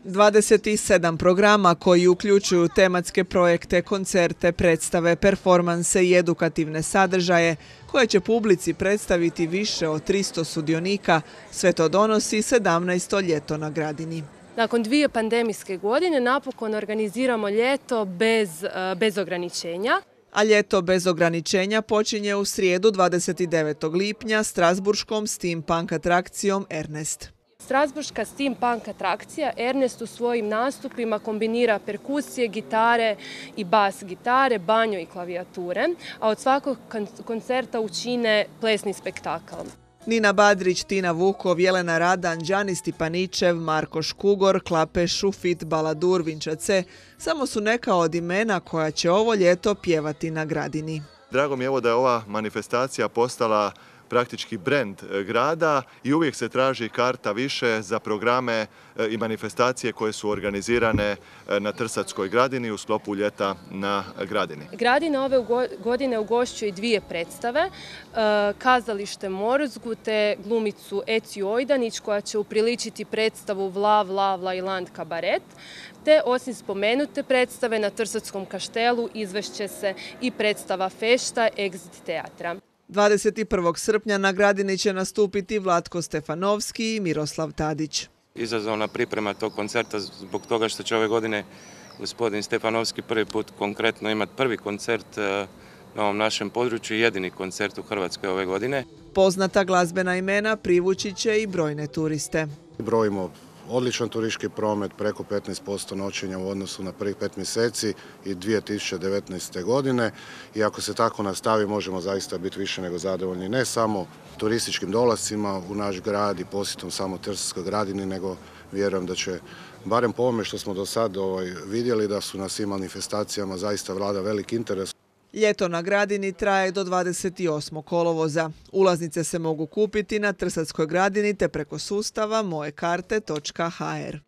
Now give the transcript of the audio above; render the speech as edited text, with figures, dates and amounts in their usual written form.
27 programa koji uključuju tematske projekte, koncerte, predstave, performanse i edukativne sadržaje koje će publici predstaviti više od 300 sudionika, sve to donosi 17. ljeto na Gradini. Nakon 2 pandemijske godine napokon organiziramo ljeto bez ograničenja. A ljeto bez ograničenja počinje u srijedu 29. lipnja strasburškom steampunk atrakcijom Ernest. Strasburška steampunk atrakcija Ernest u svojim nastupima kombinira perkusije, gitare i bas gitare, banjo i klavijature, a od svakog koncerta učine plesni spektakl. Nina Badrić, Tina Vukov, Jelena Radan, Đani Stipaničev, Marko Škugor, Klape Šufit, Baladur, Vinčace samo su neka od imena koja će ovo ljeto pjevati na Gradini. Drago mi je da je ova manifestacija postala praktički brend grada i uvijek se traži karta više za programe i manifestacije koje su organizirane na Trsatskoj Gradini u sklopu ljeta na Gradini. Gradina ove godine ugošćuje 2 predstave, kazalište Morzgu te glumicu Eciju Ojdanić koja će upriličiti predstavu Vlav, Lavla i Land kabaret, te osim spomenute predstave na Trsatskom kaštelu izvešće se i predstava Fešta Exit teatra. 21. srpnja na Gradini će nastupiti Vlatko Stefanovski i Miroslav Tadić. Izazovna priprema tog koncerta zbog toga što će ove godine gospodin Stefanovski prvi put konkretno imati prvi koncert na ovom našem području i jedini koncert u Hrvatskoj ove godine. Poznata glazbena imena privući će i brojne turiste. Brojimo odličan turistički promet, preko 15% noćenja u odnosu na prvih 5 mjeseci i 2019. godine. I ako se tako nastavi, možemo zaista biti više nego zadovoljni ne samo turističkim dolascima u naš grad i posjetom samo Trsatskoj Gradini, nego vjerujem da će, barem po ovome što smo do sad vidjeli, da su na svim manifestacijama zaista vlada velik interes. Ljeto na Gradini traje do 28. kolovoza. Ulaznice se mogu kupiti na Trsatskoj Gradini te preko sustava mojekarte.hr.